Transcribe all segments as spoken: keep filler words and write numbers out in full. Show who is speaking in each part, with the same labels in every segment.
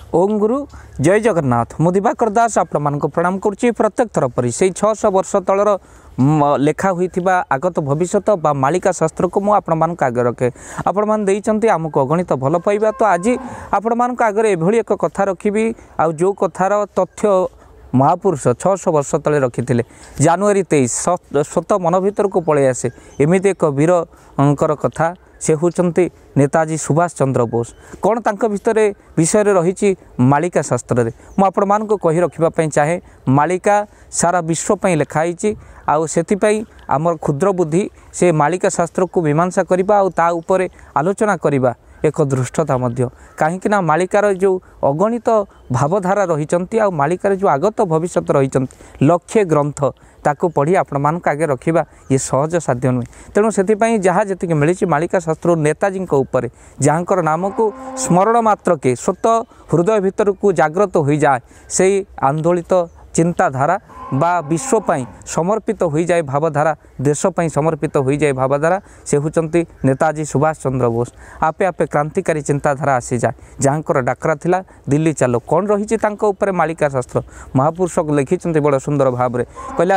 Speaker 1: ଓಂ ଗୁରୁ ଜୟ ଜଗନ୍ନାଥ। ମୁଁ ଦିବାକର ଦାସ ଆପଣମାନଙ୍କୁ ପ୍ରଣାମ କରୁଛି। ପ୍ରତ୍ୟେକ ଥର ପରି ସେଇ ଛଅଶହ ବର୍ଷ ତଳର ଲେଖା ହୋଇଥିବା ଆଗତ ଭବିଷ୍ୟତ ବା ମାଳିକା ଶାସ୍ତ୍ରକୁ ମୁଁ ଆପଣମାନଙ୍କ ଆଗରେ ରଖେ। ଆପଣମାନେ ଦେଇଛନ୍ତି ଆମକୁ ଅଗଣିତ ଭଲ ପାଇବା, ତ ଆଜି ଆପଣମାନଙ୍କ ଆଗରେ ଏଭଳି ଏକ କଥା ରଖିବି, ଆଉ ଯେଉଁ କଥାର ତଥ୍ୟ ମହାପୁରୁଷ ଛଅଶହ ବର୍ଷ ତଳେ ରଖିଥିଲେ। ଜାନୁଆରୀ ତେଇଶ ସ୍ୱତଃ ମନ ଭିତରକୁ ପଳେଇ ଆସେ ଏମିତି ଏକ ବୀରଙ୍କର କଥା। ସେ ହେଉଛନ୍ତି ନେତାଜୀ ସୁଭାଷ ଚନ୍ଦ୍ର ବୋଷ। କ'ଣ ତାଙ୍କ ଭିତରେ ବିଷୟରେ ରହିଛି ମାଳିକା ଶାସ୍ତ୍ରରେ, ମୁଁ ଆପଣମାନଙ୍କୁ କହି ରଖିବା ପାଇଁ ଚାହେଁ। ମାଳିକା ସାରା ବିଶ୍ୱ ପାଇଁ ଲେଖା ହେଇଛି, ଆଉ ସେଥିପାଇଁ ଆମର କ୍ଷୁଦ୍ର ବୁଦ୍ଧି ସେ ମାଳିକା ଶାସ୍ତ୍ରକୁ ମୀମାଂସା କରିବା ଆଉ ତା ଉପରେ ଆଲୋଚନା କରିବା ଏକ ଧୃଷ୍ଟତା ମଧ୍ୟ। କାହିଁକିନା ମାଳିକାର ଯେଉଁ ଅଗଣିତ ଭାବଧାରା ରହିଛନ୍ତି ଆଉ ମାଳିକାର ଯେଉଁ ଆଗତ ଭବିଷ୍ୟତ ରହିଛନ୍ତି, ଲକ୍ଷେ ଗ୍ରନ୍ଥ, ତାକୁ ପଢ଼ି ଆପଣମାନଙ୍କ ଆଗେ ରଖିବା ଇଏ ସହଜ ସାଧ୍ୟ ନୁହେଁ। ତେଣୁ ସେଥିପାଇଁ ଯାହା ଯେତିକି ମିଳିଛି ମାଳିକା ଶାସ୍ତ୍ରରୁ ନେତାଜୀଙ୍କ ଉପରେ, ଯାହାଙ୍କର ନାମକୁ ସ୍ମରଣ ମାତ୍ରକେ ସ୍ୱତଃ ହୃଦୟ ଭିତରକୁ ଜାଗ୍ରତ ହୋଇଯାଏ ସେଇ ଆନ୍ଦୋଳିତ ଚିନ୍ତାଧାରା, ବା ବିଶ୍ୱ ପାଇଁ ସମର୍ପିତ ହୋଇଯାଏ ଭାବଧାରା, ଦେଶ ପାଇଁ ସମର୍ପିତ ହୋଇଯାଏ ଭାବଧାରା, ସେ ହେଉଛନ୍ତି ନେତାଜୀ ସୁଭାଷ ଚନ୍ଦ୍ର ବୋଷ। ଆପେ ଆପେ କ୍ରାନ୍ତିକାରୀ ଚିନ୍ତାଧାରା ଆସିଯାଏ, ଯାହାଙ୍କର ଡାକରା ଥିଲା ଦିଲ୍ଲୀ ଚାଲ। କ'ଣ ରହିଛି ତାଙ୍କ ଉପରେ ମାଳିକା ଶାସ୍ତ୍ର? ମହାପୁରୁଷ ଲେଖିଛନ୍ତି ବଡ଼ ସୁନ୍ଦର ଭାବରେ, କହିଲେ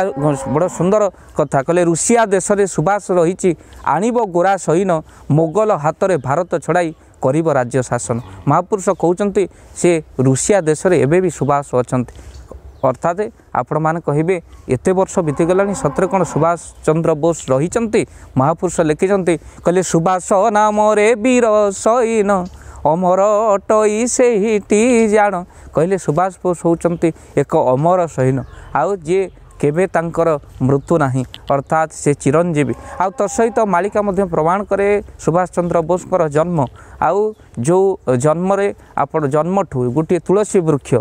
Speaker 1: ବଡ଼ ସୁନ୍ଦର କଥା, କହିଲେ ରୁଷିଆ ଦେଶରେ ସୁଭାଷ ରହିଛି, ଆଣିବ ଗୋରା ସୈନ, ମୋଗଲ ହାତରେ ଭାରତ ଛଡ଼ାଇ କରିବ ରାଜ୍ୟ ଶାସନ। ମହାପୁରୁଷ କହୁଛନ୍ତି ସେ ରୁଷିଆ ଦେଶରେ ଏବେ ବି ସୁଭାଷ ଅଛନ୍ତି। ଅର୍ଥାତ୍ ଆପଣମାନେ କହିବେ ଏତେ ବର୍ଷ ବିତିଗଲାଣି, ସତରେ କ'ଣ ସୁଭାଷ ଚନ୍ଦ୍ର ବୋଷ ରହିଛନ୍ତି? ମହାପୁରୁଷ ଲେଖିଛନ୍ତି, କହିଲେ ସୁଭାଷ ନାମରେ ବୀର ସୈନ ଅମର ଅଟଇ ସେହିଟି ଜାଣ। କହିଲେ ସୁଭାଷ ବୋଷ ହେଉଛନ୍ତି ଏକ ଅମର ସୈନ, ଆଉ ଯିଏ କେବେ ତାଙ୍କର ମୃତ୍ୟୁ ନାହିଁ, ଅର୍ଥାତ୍ ସେ ଚିରଞ୍ଜୀବୀ। ଆଉ ତା ସହିତ ମାଳିକା ମଧ୍ୟ ପ୍ରମାଣ କରେ ସୁଭାଷ ଚନ୍ଦ୍ର ବୋଷଙ୍କର ଜନ୍ମ, ଆଉ ଯେଉଁ ଜନ୍ମରେ ଆପଣ ଜନ୍ମଠୁ ଗୋଟିଏ ତୁଳସୀ ବୃକ୍ଷ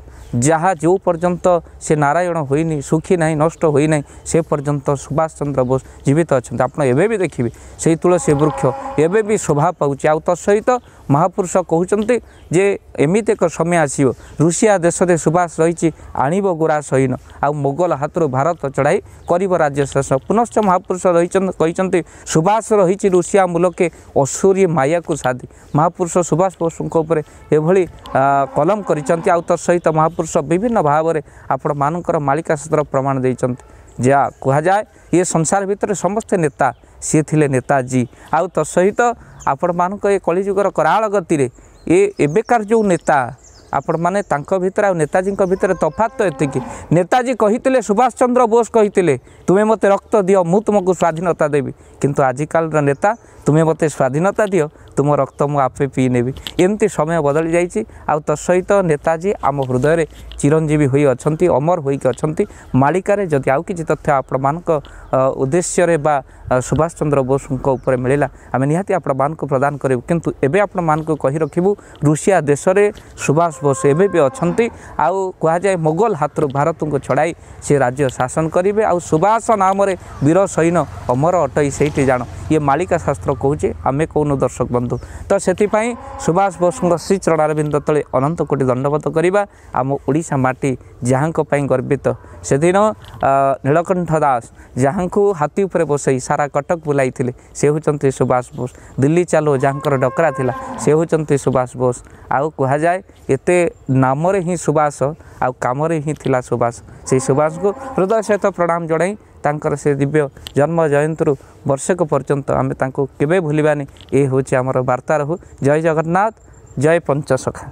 Speaker 1: ଯାହା ଯେଉଁ ପର୍ଯ୍ୟନ୍ତ ସେ ନାରାୟଣ ହୋଇନି, ଶୁଖି ନାହିଁ, ନଷ୍ଟ ହୋଇନାହିଁ, ସେ ପର୍ଯ୍ୟନ୍ତ ସୁଭାଷ ଚନ୍ଦ୍ର ବୋଷ ଜୀବିତ ଅଛନ୍ତି। ଆପଣ ଏବେ ବି ଦେଖିବେ ସେଇ ତୁଳସୀ ବୃକ୍ଷ ଏବେ ବି ଶୋଭା ପାଉଛି। ଆଉ ତା ସହିତ ମହାପୁରୁଷ କହୁଛନ୍ତି ଯେ ଏମିତି ଏକ ସମୟ ଆସିବ, ରୁଷିଆ ଦେଶରେ ସୁଭାଷ ରହିଛି, ଆଣିବ ଗୋରା ସୈନ, ଆଉ ମୋଗଲ ହାତରୁ ଭାରତ ଚଢ଼ାଇ କରିବ ରାଜ୍ୟ ଶାସନ। ପୁନଶ୍ଚ ମହାପୁରୁଷ ରହିଛନ୍ତି, କହିଛନ୍ତି ସୁଭାଷ ରହିଛି ରୁଷିଆ ମୂଲକେ ଅସୁରୀ ମାୟାକୁ ସାଧି। ମହାପୁରୁଷ ସୁଭାଷ ବୋଷଙ୍କ ଉପରେ ଏଭଳି କଲମ କରିଛନ୍ତି। ଆଉ ତା ସହିତ ମହାପୁରୁଷ ବିଭିନ୍ନ ଭାବରେ ଆପଣମାନଙ୍କର ମାଳିକା ଶାସ୍ତ୍ର ପ୍ରମାଣ ଦେଇଛନ୍ତି। ଯାହା କୁହାଯାଏ ଇଏ ସଂସାର ଭିତରେ ସମସ୍ତେ ନେତା, ସିଏ ଥିଲେ ନେତାଜୀ। ଆଉ ତା ସହିତ ଆପଣମାନଙ୍କ ଏ କଳିଯୁଗର କରାଳ ଗତିରେ ଏ ଏବେକାର ଯେଉଁ ନେତା ଆପଣମାନେ, ତାଙ୍କ ଭିତରେ ଆଉ ନେତାଜୀଙ୍କ ଭିତରେ ତଫାତ୍ ତ ଏତିକି, ନେତାଜୀ କହିଥିଲେ, ସୁଭାଷ ଚନ୍ଦ୍ର ବୋଷ କହିଥିଲେ, ତୁମେ ମୋତେ ରକ୍ତ ଦିଅ ମୁଁ ତୁମକୁ ସ୍ୱାଧୀନତା ଦେବି। କିନ୍ତୁ ଆଜିକାଲିର ନେତା, ତୁମେ ମୋତେ ସ୍ୱାଧୀନତା ଦିଅ, ତୁମ ରକ୍ତ ମୁଁ ଆପେ ପିଇ ନେବି। ଏମିତି ସମୟ ବଦଳି ଯାଇଛି। ଆଉ ତା ସହିତ ନେତାଜୀ ଆମ ହୃଦୟରେ ଚିରଞ୍ଜୀବୀ ହୋଇ ଅଛନ୍ତି, ଅମର ହୋଇକି ଅଛନ୍ତି। ମାଳିକାରେ ଯଦି ଆଉ କିଛି ତଥ୍ୟ ଆପଣମାନଙ୍କ ଉଦ୍ଦେଶ୍ୟରେ ବା ସୁଭାଷ ଚନ୍ଦ୍ର ବୋଷଙ୍କ ଉପରେ ମିଳିଲା, ଆମେ ନିହାତି ଆପଣମାନଙ୍କୁ ପ୍ରଦାନ କରିବୁ। କିନ୍ତୁ ଏବେ ଆପଣମାନଙ୍କୁ କହି ରଖିବୁ, ରୁଷିଆ ଦେଶରେ ସୁଭାଷ ବୋଷ ଏବେ ବି ଅଛନ୍ତି, ଆଉ କୁହାଯାଏ ମୋଗଲ ହାତରୁ ଭାରତକୁ ଛଡ଼ାଇ ସେ ରାଜ୍ୟ ଶାସନ କରିବେ। ଆଉ ସୁଭାଷ ନାମରେ ବୀର ସୈନ ଅମର ଅଟଇ ସେଇଠି ଜାଣ, ଇଏ ମାଳିକା ଶାସ୍ତ୍ର କହୁଛି, ଆମେ କହୁନୁ ଦର୍ଶକ ବନ୍ଧୁ। ତ ସେଥିପାଇଁ ସୁଭାଷ ବୋଷଙ୍କ ଶ୍ରୀ ଚରଣାରବିନ୍ଦ ତଳେ ଅନନ୍ତ କୋଟି ଦଣ୍ଡବତ କରିବା। ଆମ ଓଡ଼ିଶା ମାଟି ଯାହାଙ୍କ ପାଇଁ ଗର୍ବିତ, ସେଦିନ ନୀଳକଣ୍ଠ ଦାସ ଯାହାଙ୍କୁ ହାତୀ ଉପରେ ବସାଇ ସାରା କଟକ ବୁଲାଇଥିଲେ, ସେ ହେଉଛନ୍ତି ସୁଭାଷ ବୋଷ। ଦିଲ୍ଲୀ ଚାଲୋ ଯାହାଙ୍କର ଡକରା ଥିଲା, ସେ ହେଉଛନ୍ତି ସୁଭାଷ ବୋଷ। ଆଉ କୁହାଯାଏ ଏତେ ନାମରେ ହିଁ ସୁଭାଷ ଆଉ କାମରେ ହିଁ ଥିଲା ସୁଭାଷ। ସେଇ ସୁଭାଷଙ୍କୁ ହୃଦୟ ସହିତ ପ୍ରଣାମ ଜଣାଇ ତାଙ୍କର ସେ ଦିବ୍ୟ ଜନ୍ମ ଜୟନ୍ତୀରୁ ବର୍ଷକ ପର୍ଯ୍ୟନ୍ତ ଆମେ ତାଙ୍କୁ କେବେ ଭୁଲିବାନି, ଏ ହେଉଛି ଆମର ବାର୍ତ୍ତା ରହୁ। ଜୟ ଜଗନ୍ନାଥ, ଜୟ ପଞ୍ଚସଖା।